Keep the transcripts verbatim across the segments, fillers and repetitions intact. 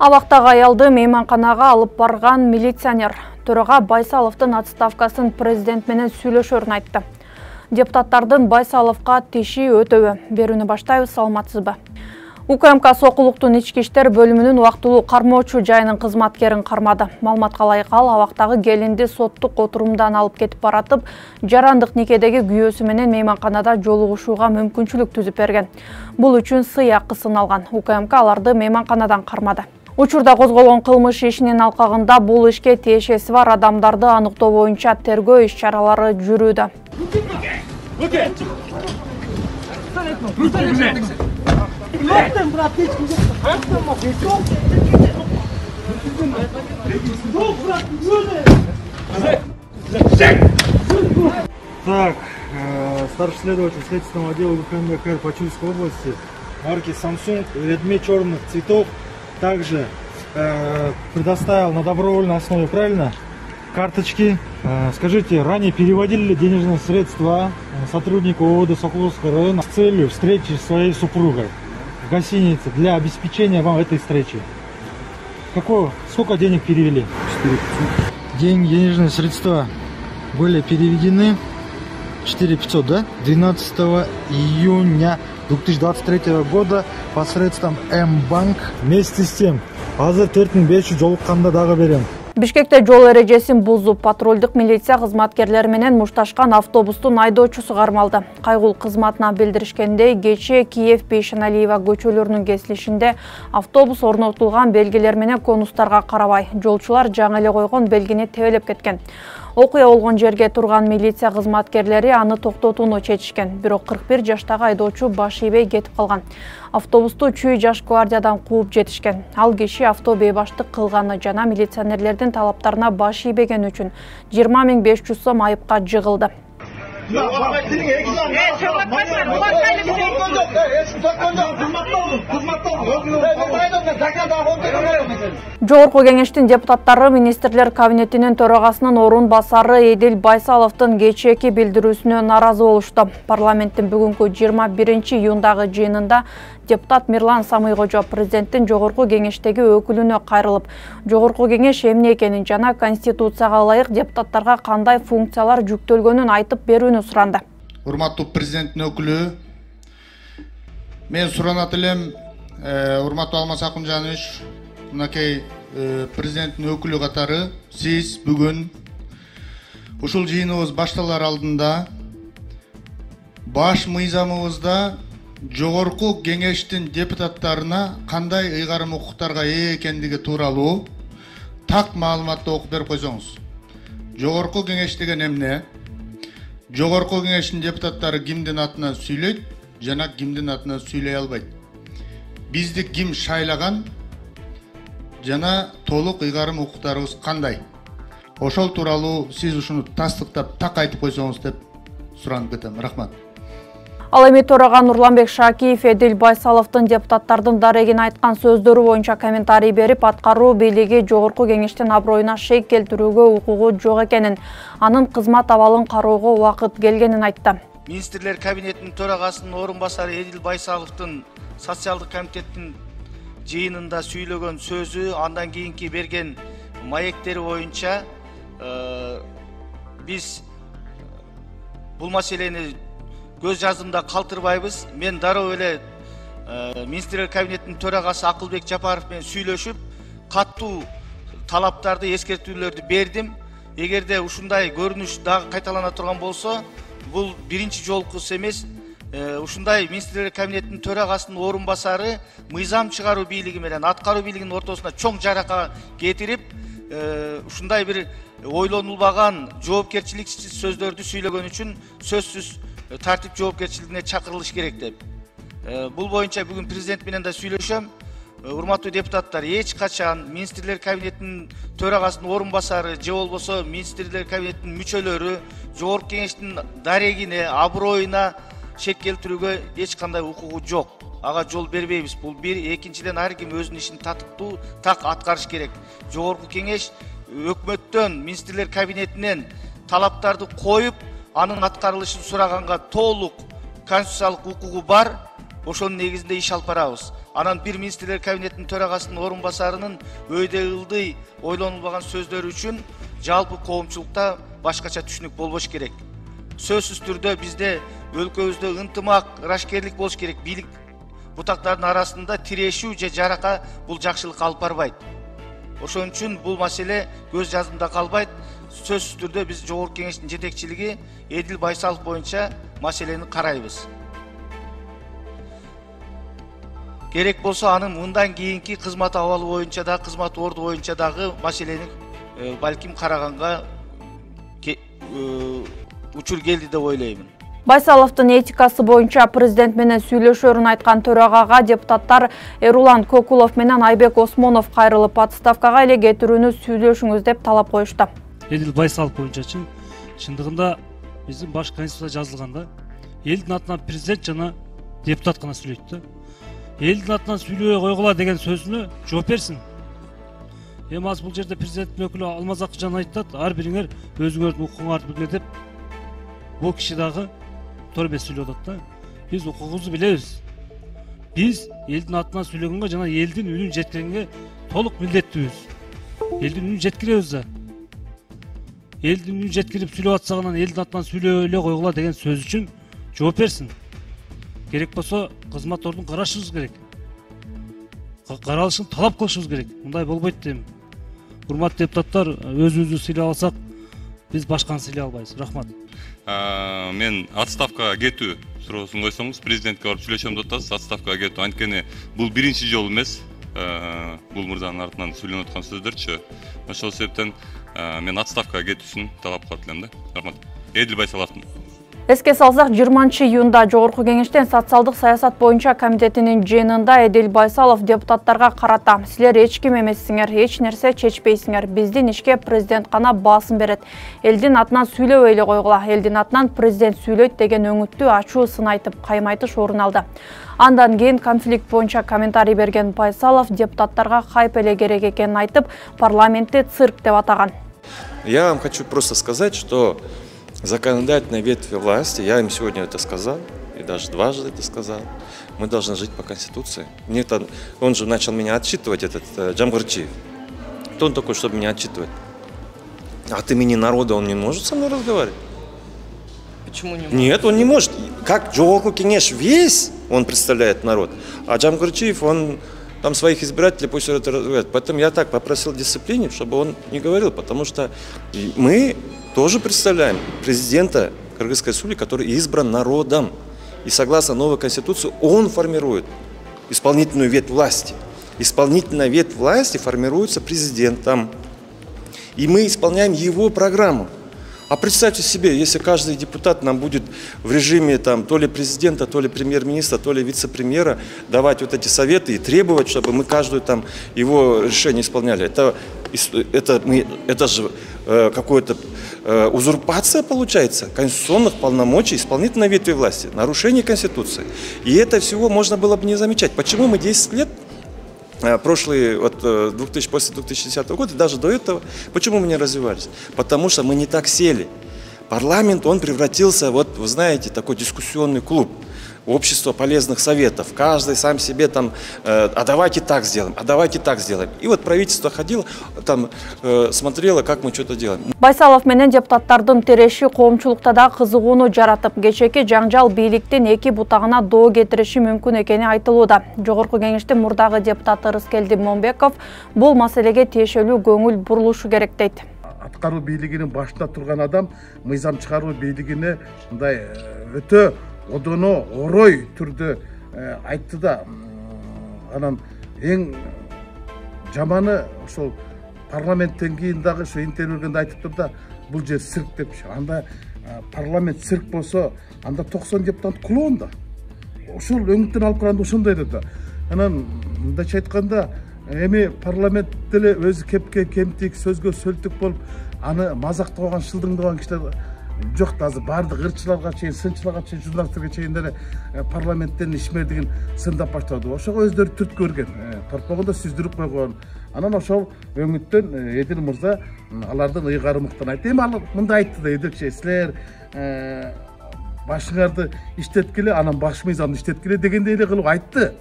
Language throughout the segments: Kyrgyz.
Абактагы аялды мейманканага алып барган милиционер Төрага Байсаловдун отставкасын президент менен сүйлөшөрүн айтты. Депутаттардын Байсаловго тиши өтөбү берүүнү баштайбыз, саламатсызбы? УКМК Сокулуктун ички иштер бөлүмүнүн убактылуу кармоочу жайынын кызматкерин кармады. Маалыматка ылайык ал абактагы келинди соттук отурумдан алып кетип баратып, жарандык никедеги күйөөсү менен мейманканада жолугушууга мүмкүнчүлүк түзүп берген. Бул үчүн сый акысын алган. УКМК аларды мейманканадан кармады. Учурда козголгон кылмыш ишинин алкагында бул ишке тиешеси бар адамдарды аныктоо боюнча тергөө иш-чаралары жүрүүдө. Так, старший следователь следственного отдела УКМК по Чуйской области, марки Samsung, Redmi черных цветов, также э, предоставил на добровольной основе, правильно, карточки. Э, скажите, ранее переводили ли денежные средства сотруднику ОВД Соколовского района с целью встречи с своей супругой в гостинице для обеспечения вам этой встречи? Какое, сколько денег перевели? четыре пятьсот. Деньги, денежные средства были переведены четыре пятьсот, да? двенадцатого июня две тысячи двадцать третьего года посредством М-банк. Вместе с тем, азыр төрт миң беш жүз жолукканда дагы берем. Бишкекте жол эрежесин бузуп, патрулдук милиция кызматкерлери менен мушташкан автобустун айдоочусу кармалды. Кайгул кызматына билдиришкендей, кечээ Киев Бейшеналиева көчөлөрүнүн кесилишинде автобус орнотулган белгилер менен конустарга карабай, жолчулар жаңы эле койгон белгини тебелеп кеткен. Окуя болгон жерге турган милиция кызматкерлери аны токтотууну чечишкен. Бирок кырк бир жаштагы айдоочу баш ийбей кетип калган. Автобусту чүй жаш гвардиядан кууп жетишкен. Ал киши автобейбаштык кылганы жана милиционерлердин талаптарына баш ийбеген үчүн жыйырма миң беш жүз сом айыпка жыгылды. Жогорку кеңештин депутаттары министрлер кабинетинин төрагасынын орун басары Эдил Байсаловдун кечээки билдирүүсүнө нааразы болушту. Парламенттин бүгүнкү жыйырма биринчи июндагы жыйынында депутат Мирлан Самыйкожо президенттин жогорку кеңештеги өкүлүнө кайрылып, жогорку кеңеш эмне экенин жана конституцияга ылайык депутаттарга кандай функциялар жүктөлгөнүн айтып берүүнү суранды. Урматтуу президенттин өкүлү, мен суранат элем, урматтуу Алмаз Акунжанович, мынакей президенттин өкүлү катары сиз бүгүн ушул жыйыныбыз башталар алдында баш мыйзамыбызда жогорку кеңештин депутаттарына кандай ыйгарым укуктарга ээ экендиги тууралуу так маалыматты окуп берип койсоңуз. Жогорку кеңеш деген эмне? Жогорку кеңештин депутаттары кимдин атынан сүйлөйт жана кимдин атынан сүйлөй албайт. Бизди ким шайлаган жана толук ыйгарым укуктарыбыз кандай? Ошол тууралуу сиз ушуну тастыктап так айтып койсоңуз деп суранып кетем. Рахмат. Ал эми төрага Нурланбек Шакиев Эдил Байсаловдун депутаттардын дарегин айткан сөздөрү боюнча комментарий берип, аткаруу бийлиги жогорку кеңештин аброюна шек келтирүүгө укугу жок экенин, анын кызмат абалын кароого убакыт келгенин айтты. Министрлер кабинетинин төрагасынын орун басары Эдил Байсаловдун социалдык комитеттин жыйынында сүйлөгөн сөзү, андан кийинки берген маектери боюнча биз бул маселени көз жазымда калтырбайбыз. Мен дароо эле министрлер кабинетинин төрагасы Акылбек Жапаров менен сүйлөшүп, каттуу талаптарды, эскертүүлөрдү бердим. Эгерде ушундай көрүнүш дагы кайталана турган болсо, бул биринчи жолкусу эмес. Ушундай министрлер кабинетинин төрагасынын орун басары мыйзам чыгаруу бийлиги менен аткаруу бийлигинин ортосуна чоң жарака кетирип, ушундай бир ойлонулбаган жоопкерчиликсиз сөздөрдү сүйлөгөн үчүн сөзсүз тартип жоопкерчилигине чакырылыш керек деп. Бул боюнча бүгүн президент менен да сүйлөшөм. Урматтуу депутаттар, эч качан министрлер кабинетинин төрагасынын орун басары же болбосо министрлер кабинетинин мүчөлөрү жогорку кеңештин дарегине, аброюна шек келтирүүгө эч кандай укугу жок. Ага жол бербейбиз. Бул бир, экинчиден ар ким өзүнүн ишин татыктуу, так аткарыш керек. Жогорку кеңеш өкмөттөн, министрлер кабинетинен талаптарды коюп, анын аткарылышын сураганга толук конституциялык укугу бар. Ошонун негизинде иш алып барабыз. Анан бир министрлер кабинетинин төрагасынын орун басарынын өйдө ылдый ойлонулбаган сөздөрү үчүн жалпы коомчулукта башкача түшүнүк болбош керек. Сөзсүз түрдө бизде өлкөбүздө ынтымак, ырашкерлик болуш керек. Бийлик бутактардын арасында тирешүү же жарака бул жакшылыкка алып барбайт. Ошон үчүн бул маселе көз жазымда калбайт. Сөзсүз түрдө биз Жогорку Кеңештин жетекчилиги Эдил Байсалов боюнча маселени карайбыз. Керек болсо анын мындан кийинки кызмат абалы боюнча да, кызмат орду боюнча дагы маселени балким караганга учур келди деп ойлоймун. Байсаловдун этикасы боюнча президент менен сүйлөшөрүн айткан төрагага депутаттар Эрулан Кокулов менен Айбек Осмонов кайрылып отставкага эле кетирүүнү сүйлөшүңүз деп талап коюшту. Эдил Байсалов боюнчачы чындыгында биздин баш конституцияда жазылганда элдин атынан президент жана депутат гана сүйлөйт да. Элдин атынан сүйлөбөй койгула деген сөзүнө жооп берсин. Эми азыр бул жерде президенттин өкүлү Алмаз Акчан айтат, ар бириңер өзүңөрдүн укугуңарды билгиле деп. Бул киши дагы туура эмес сүйлөп атат да. Биз укугубузду билебиз. Биз элдин атынан сүйлөгөнгө жана элдин үнүн жеткиргенге толук милдеттүүбүз. Элдин үнүн жеткиребиз да. Элдин үнүн жеткирип сүйлөп атсак анан элдин атынан сүйлөбөй эле койгула деген сөз үчүн жооп берсин. Керек болсо кызмат ордун карашыбыз керек. Каралышын талап кылышыбыз керек. Мындай болбойт дейм. Урматтуу депутаттар, өзүбүздү сыйлай алсак, биз башканы сыйлай албайбыз. Рахмат. Мен отставкага кетүү суроосун койсоңуз, президентке барып сүйлөшөм деп атасыз. Отставкага кетүү анткени бул биринчи жолу эмес. Бул мырзанын артынан сүйлөнүп аткан сөздөрчү. Ошол себептен мен отставкага кетүүсүн талап кылат элем да. Рахмат. Эдил Байсаловдун. Эске салсак, жыйырманчы июнда Жогорку Кеңештин социалдык саясат боюнча комитетинин жыйынында Эдил Байсалов депутаттарга карата: силер эч ким эмессиңер, эч нерсе чечпейсиңер. Биздин ишке президент гана басым берет. Элдин атынан сүйлөбөй эле койгула. Элдин атынан президент сүйлөйт деген өңүттүү ачуу сын айтып, каймайтыш орун алды. Андан кийин конфликт боюнча комментарий берген Байсалов депутаттарга хайп эле керек экенин айтып, парламентти цирк деп атаган. Я вам хочу просто сказать, что законодательной ветви власти, я им сегодня это сказал, и даже дважды это сказал, мы должны жить по Конституции. Мне там, он же начал меня отчитывать, этот э, Джамгурчиев. Кто он такой, чтобы меня отчитывать? От имени народа он не может со мной разговаривать? Почему не может? Нет, он не может. Как Жогорку Кеңеш весь, он представляет народ, а Джамгурчиев, он там своих избирателей пусть это разговаривает. Поэтому я так попросил дисциплине, чтобы он не говорил, потому что мы тоже представляем президента Кыргызской республики, который избран народом. И согласно новой конституции он формирует исполнительную ветвь власти. Исполнительная ветвь власти формируется президентом. И мы исполняем его программу. А представьте себе, если каждый депутат нам будет в режиме там, то ли президента, то ли премьер-министра, то ли вице-премьера давать вот эти советы и требовать, чтобы мы каждую там его решение исполняли. Это, это, мы, это же э, какое-то э, узурпация получается конституционных полномочий исполнительной ветви власти, нарушение Конституции. И это всего можно было бы не замечать. Почему мы десять лет прошлые, вот, после две тысячи десятого года, даже до этого, почему мы не развивались? Потому что мы не так сели. Парламент, он превратился, вот, вы знаете, такой дискуссионный клуб, общество полезных советов. Каждый сам себе там, э, а давайте так сделаем, а давайте так сделаем. И вот правительство ходило, там, э, смотрело, как мы что-то делаем. Байсалов менен депутаттардын тереши коомчулукта да кызыгууну жаратып, кечеки жаңжал бийликтин эки бутагына доо кетириши мүмкүн экени айтылууда. Жогорку Кеңештин мурдагы депутаты Рыскелди Момбеков бул маселеге тиешелүү көңүл бурулушу керек дейт. Аткаруу бийлигинин башында турган адам мыйзам чыгаруу бийлигине мындай өтө одоно орой түрдө айтты да, анан эң жаманы ошол парламенттен кийин дагы ошо интервьюгенде айтыптыр да, бул жер цирк депчи. Анда парламент цирк болсо, анда токсон депутат кулон да. Ошол өңүттөн алып караганда ошондой да. Анан мындайча айтканда, эми парламент деле өзү кепке кемтик, сөзгө сөлтүк болуп, аны мазактабаган, шылдыңдабаган кишилер жок да. Азыр баардык ырчыларга чейин, сынчыларга чейин, журналисттерге чейин деле парламенттен ишмердигин сындап баштады. Ошого өздөрү түрткү берген, торпогунда сүздүрүп койгон. Анан ошол өңүттөн Эдил мырза алардын ыйгарымыктан айтты. Эми ал мындай айтты да, Эдилчи, силер башыңарды иштеткиле, анан баш мыйзамды иштеткиле дегендей эле кылып айтты.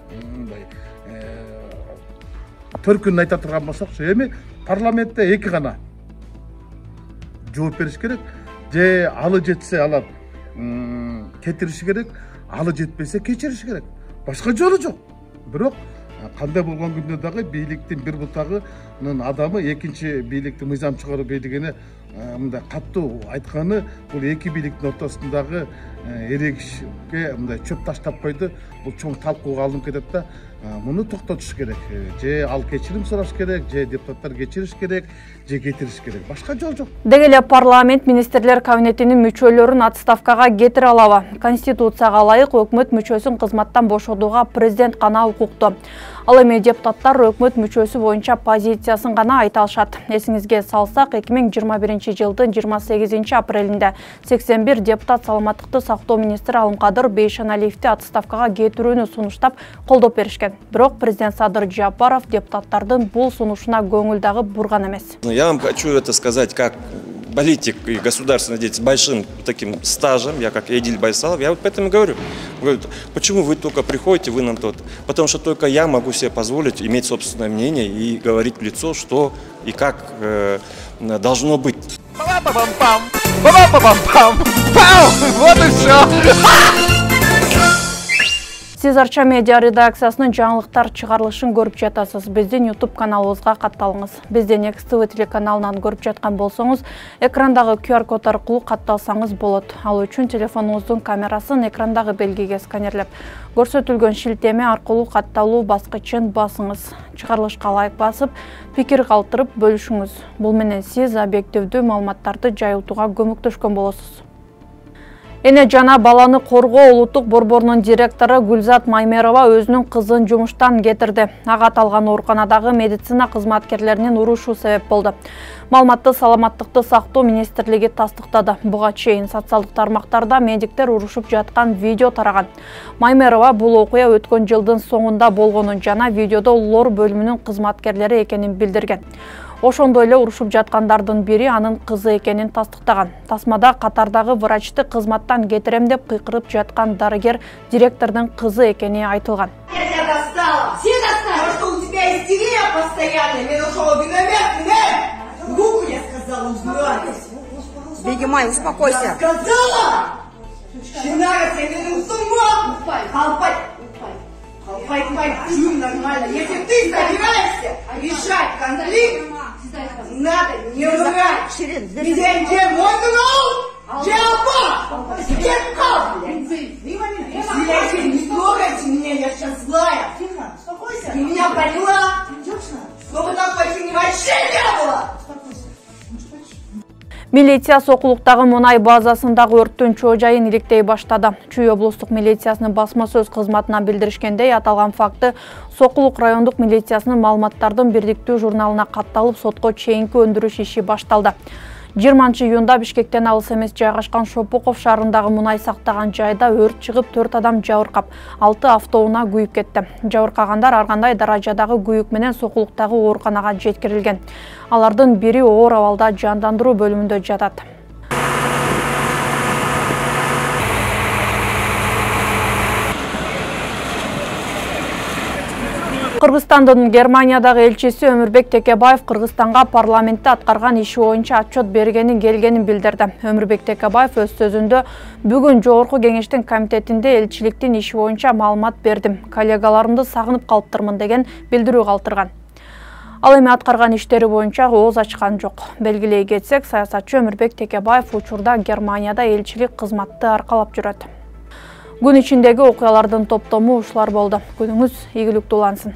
төркүнүн айта турган болсокчу, эми парламентте эки гана жооп бериш керек. Же алы жетсе алар кетириши керек, алы жетпесе кечириш керек. Башка жолу жок. Бирок кандай болгон күндө дагы бийликтин бир бутагынын адамы экинчи бийликтин мыйзам чыгаруу бийлигине мындай каттуу айтканы бул эки бийликтин ортосундагы эрегишке мындай чөп таштап койду. Бул чоң талкууга алынып кетет да. Муну токтотуш керек. Же ал кечирим сураш керек, же депутаттар кечириш керек, же кетириш керек. Башка жол жок. Деги эле парламент министрлер кабинетинин мүчөлөрүн отставкага кетире алабы? Конституцияга ылайык өкмөт мүчөсүн кызматтан бошотууга президент гана укуктуу. Ал эми депутаттар өкмөт мүчөсү боюнча позициясын гана айта алышат. Эсиңизге салсак, эки миң жыйырма биринчи жылдын жыйырма сегизинчи апрелинде сексен бир депутат саламаттыкты сактоо министри Алымкадыр Бейшеналиевди отставкага кетирүүнү сунуштап колдоп беришкен. Бирок президент Садыр Жапаров депутаттардын бул сунушуна көңүл дагы бурган эмес. Я вам хочу это сказать как политик и государственный деятель с большим таким стажем, я как Эдиль Байсалов, я вот поэтому говорю, говорю, почему вы только приходите, вы нам тот, потому что только я могу себе позволить иметь собственное мнение и говорить в лицо, что и как э, должно быть. Па-па-пам-пам! Па-па-пам-пам! Вот и все! Сиз Арча медиа редакциясынын жаңылыктар чыгарылышын көрүп жатасыз. Биздин YouTube каналыбызга катталыңыз. Бизден Экс Т В телеканалынан көрүп жаткан болсоңуз, экрандагы Q R код аркылуу катталсаңыз болот. Ал үчүн телефонуңуздун камерасын экрандагы белгиге сканерлеп, көрсөтүлгөн шилтеме аркылуу катталуу баскычын басыңыз. Чыгарылышка лайк басып, пикир калтырып бөлүшүңүз. Бул менен сиз объективдүү маалыматтарды жайылтууга көмөктөшкөн болосуз. Эне жана баланы коргоо улуттук борборунун директору Гүлзат Маймерова өзүнүн кызын жумуштан кетирди. Ага аталган ооруканадагы медицина кызматкерлеринин урушу себеп болду. Маалыматты саламаттыкты сактоо министрлиги тастыктады. Буга чейин социалдык тармактарда медиктер урушуп жаткан видео тараган. Маймерова бул окуя өткөн жылдын соңунда болгонун жана видеодо лор бөлүмүнүн кызматкерлери экенин билдирген. Ошондой эле урушуп жаткандардын бири анын кызы экенин тастыктаган. Тасмада катардагы врачты кызматтан кетирем деп кыйкырып жаткан дарыгер директордун кызы экени айтылган. Я тебя достала! Все достали! Что у тебя истерия постоянная, мне нужно наверх, руку я сказала, убирайтесь! Бегемай, успокойся! Сказала! Чинара, ты не с ума! Халпай! Халпай, халпай, чуй нормально! Если ты собираешься решать конфликт, надо не врать! Где, где мой друг? Где оба? Где кал? Не трогайте меня, я сейчас злая! Тихо, успокойся! Ты меня поняла? Чтобы так почти вообще не было! Милиция Сокулуктагы мунай базасындагы өрттүн чоо жайын иликтей баштады. Чүй облустук милициясынын басма сөз кызматына билдиришкендей, аталган факты Сокулук райондук милициясынын маалыматтардын бирдиктүү журналына катталып, сотко чейинки өндүрүш иши башталды. жыйырманчы июнда Бишкектен алыс эмес жайгашкан Шопуков шаарындагы мунай сактаган жайда өрт чыгып, төрт адам жабыркап, алты автоунаа күйүп кетти. Жабыркагандар ар кандай даражадагы күйүк менен Сокулуктагы ооруканага жеткирилген. Алардын бири оор абалда жандандыруу бөлүмүндө жатат. Кыргызстандын Германиядагы элчиси Өмүрбек Текебаев Кыргызстанга парламентте аткарган иши боюнча отчет бергенин келгенин билдирди. Өмүрбек Текебаев өз сөзүндө бүгүн Жогорку кеңештин комитетинде элчиликтин иши боюнча маалымат бердим. Коллегаларымды сагынып калыптырмын деген билдирүү калтырган. Ал эми аткарган иштери боюнча ооз ачкан жок. Белгилей кетсек, саясатчы Өмүрбек Текебаев учурда Германияда элчилик кызматты аркалап жүрөт. Күн ичиндеги окуялардын топтому ушулар болду. Күнүңүз ийгиликтүү улансын.